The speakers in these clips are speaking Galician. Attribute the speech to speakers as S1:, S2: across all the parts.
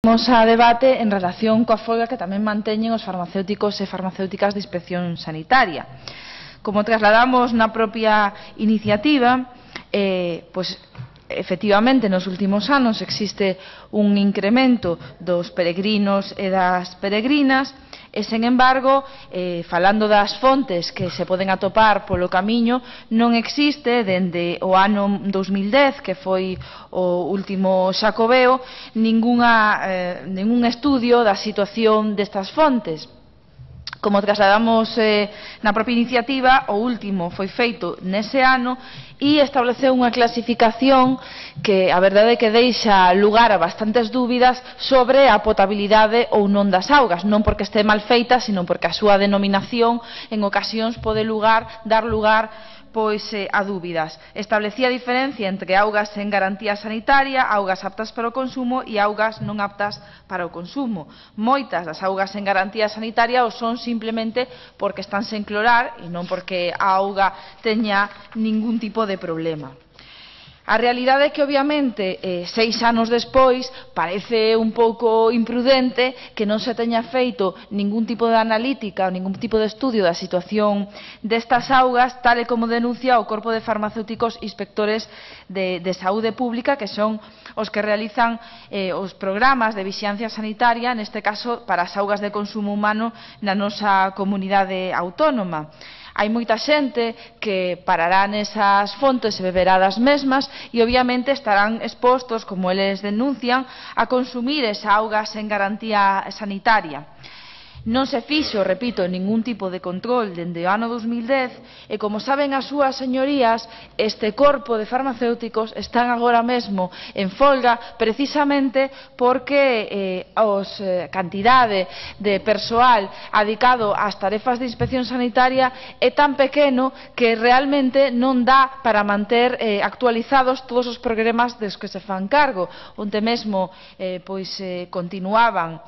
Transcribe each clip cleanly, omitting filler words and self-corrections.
S1: Vamos a debate en relación coa folga que tamén manteñen os farmacéuticos e farmacéuticas de inspección sanitaria. Como trasladamos na propia iniciativa, efectivamente nos últimos anos existe un incremento dos peregrinos e das peregrinas e, sen embargo, falando das fontes que se poden atopar polo camiño, non existe, dende o ano 2010, que foi o último xacobeo, ningún estudio da situación destas fontes. Como trasladamos na propia iniciativa, o último foi feito nese ano e estableceu unha clasificación que a verdade é que deixa lugar a bastantes dúbidas sobre a potabilidade ou non das augas, non porque este mal feita, sino porque a súa denominación en ocasións pode dar lugar a dúbidas. Establecía a diferencia entre augas en garantía sanitaria, augas aptas para o consumo e augas non aptas para o consumo. Moitas das augas en garantía sanitaria o son simplemente porque están sen clorar e non porque a auga teña ningún tipo de problema. A realidade é que, obviamente, 6 anos despois, parece un pouco imprudente que non se teña feito ningún tipo de analítica ou ningún tipo de estudio da situación destas augas, tal e como denuncia o Corpo de Farmacéuticos Inspectores de Saúde Pública, que son os que realizan os programas de vixiancia sanitaria, neste caso para as augas de consumo humano na nosa comunidade autónoma. Hai moita xente que parará nesas fontes e beberá das mesmas e, obviamente, estarán expostos, como eles denuncian, a consumir esa auga sen garantía sanitaria. Non se fixo, repito, ningún tipo de control dende o ano 2010 e, como saben as súas señorías, este corpo de farmacéuticos están agora mesmo en folga precisamente porque a cantidade de persoal adicado ás tarefas de inspección sanitaria é tan pequeno que realmente non dá para manter actualizados todos os programas dos que se fan cargo, onde mesmo continuaban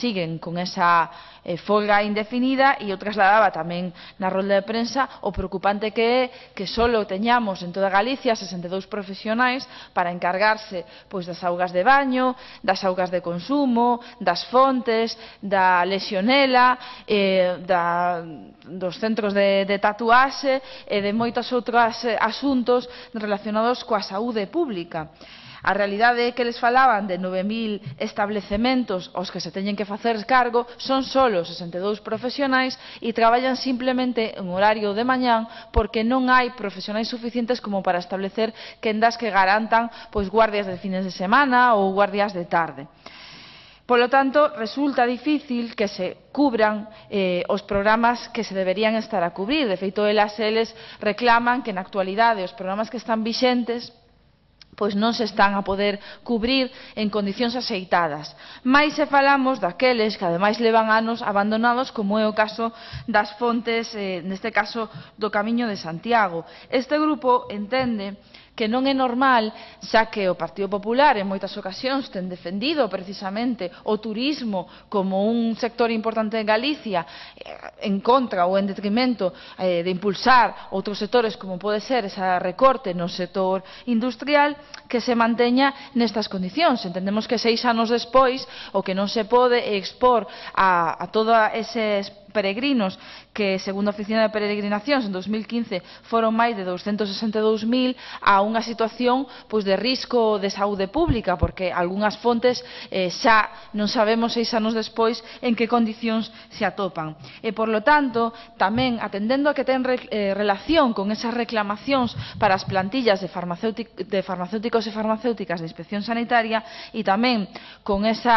S1: siguen con esa folga indefinida e eu trasladaba tamén na rolda de prensa o preocupante que é que só teñamos en toda Galicia 62 profesionais para encargarse das augas de baño, das augas de consumo, das fontes, da lexionela, dos centros de tatuaxe e de moitos outros asuntos relacionados coa saúde pública. A realidade é que eles falaban de 9.000 establecementos aos que se teñen que facer cargo, son solo 62 profesionais e traballan simplemente en horario de mañán porque non hai profesionais suficientes como para establecer quendas que garantan guardias de fines de semana ou guardias de tarde. Polo tanto, resulta difícil que se cubran os programas que se deberían estar a cubrir. De feito, eles reclaman que na actualidade os programas que están vixentes non se están a poder cubrir en condicións axeitadas. Mais se falamos daqueles que ademais levan anos abandonados, como é o caso das fontes, neste caso do Camiño de Santiago. Este grupo entende que non é normal, xa que o Partido Popular en moitas ocasións ten defendido precisamente o turismo como un sector importante en Galicia en contra ou en detrimento de impulsar outros sectores como pode ser ese recorte no sector industrial, que se manteña nestas condicións. Entendemos que 6 anos despois o que non se pode é expor a todos eses peregrinos que, segundo a Oficina de Peregrinacións, en 2015 foron máis de 262.000 a unha situación de risco de saúde pública, porque algunhas fontes xa non sabemos 6 anos despois en que condicións se atopan. E, por lo tanto, tamén atendendo a que ten relación con esas reclamacións para as plantillas de farmacéuticos e farmacéuticas de inspección sanitaria e tamén con ese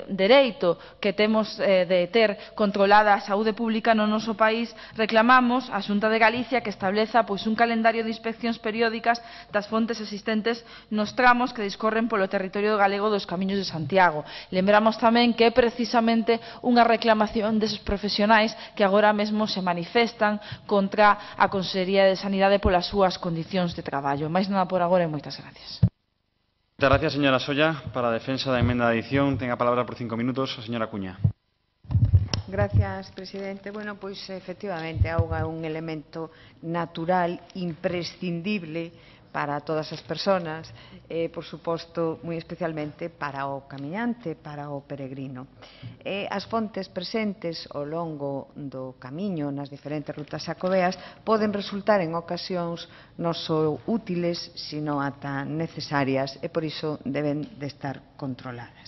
S1: dereito que temos de ter controlada a saúde pública no noso país, reclamamos á Xunta de Galicia que estableza un calendario de inspeccións periódicas das fontes existentes nos tramos que discorren polo territorio galego dos Camiños de Santiago. Lembramos tamén que é precisamente unha reclamación deses profesionais que agora mesmo se manifestan contra a Consellería de Sanidade polas súas condicións de traballo. Máis nada por agora e moitas gracias.
S2: Muchas gracias, señora Solla. Para a defensa da emenda de adición, ten a palabra por 5 minutos a señora Cuña.
S3: Gracias, presidente. Bueno, efectivamente, a auga é un elemento natural imprescindible para todas as persoas e, por suposto, moi especialmente para o camiñante, para o peregrino. As fontes presentes ao longo do camiño nas diferentes rutas xacobeas poden resultar en ocasións non só útiles, sino ata necesarias e, por iso, deben de estar controladas.